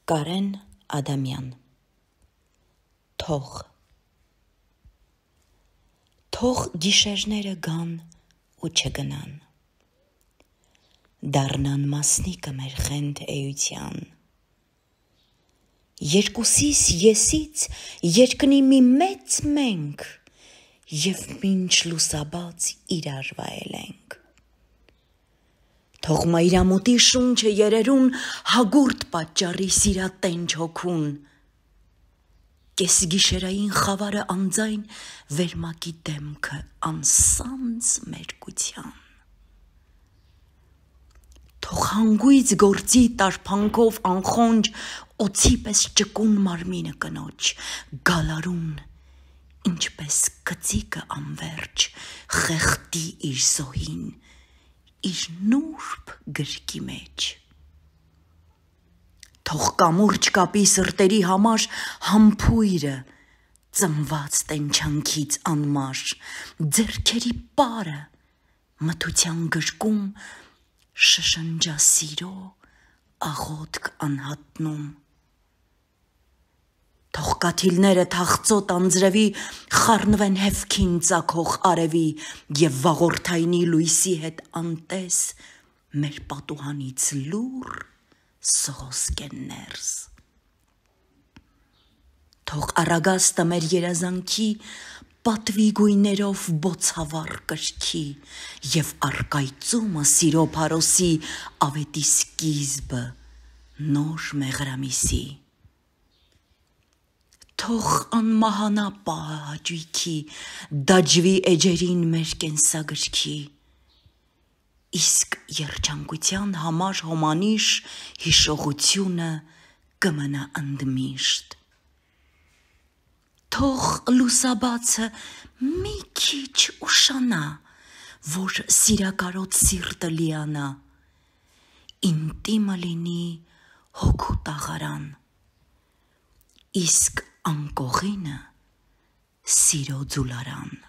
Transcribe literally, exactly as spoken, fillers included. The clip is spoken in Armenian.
Կարեն Ադամյան Թող Թող գիշերները գան ու չգնան, դառնան մասնիկը մեր խենթ էության, երկուսիս եսից երկնի մի մեծ մենք և մինչ լուսաբաց իրար վայելենք, թող մայրամուտի շունչը երերուն հագուրդ պատճառի սիրատենչ հոգուն, կես գիշերային խավարը անձայն վերմակի դեմքը անսանձ մերկության, թող հանգույց գործի տարփանքով անխոնջ օձի պես ճկուն մարմինը կնոջ, գալարուն, ինչպես կծիկը անվերջ խեղդի իր զոհին, իր նուրբ գրկի մեջ, թող կամուրջ կապի սրտերի համար համբույրը ծնված տենչանքից անմար, ձեռքերի պարը մթության գրկում շշնջա սիրո աղոթք անհատնում, թող կաթիլները թախծոտ անձրևի խառնվեն հևքին ծագող արևի և վաղորդայնի լույսի հետ անտես մեր պատուհանից լուռ սողոսկեն ներս, թող առագաստը մեր երազանքի պատվի գույներով բոցավառ կրքի և առկայծումը սիրո փարոսի ավետի սկիզբը նոր մեղրամիսի, թող անմահանա պահը հաճույքի դաջվի էջերին մեր կենսագրքի, իսկ երջանկության համար հոմանիշ հիշողությունը կմնա ընդմիշտ, թող լուսաբացը մի քիչ ուշանա, որ սիրակարոտ սիրտը լիանա, ինտիմը լինի հոգու տաղարան, իսկ անկողինը սիրո ձուլարան։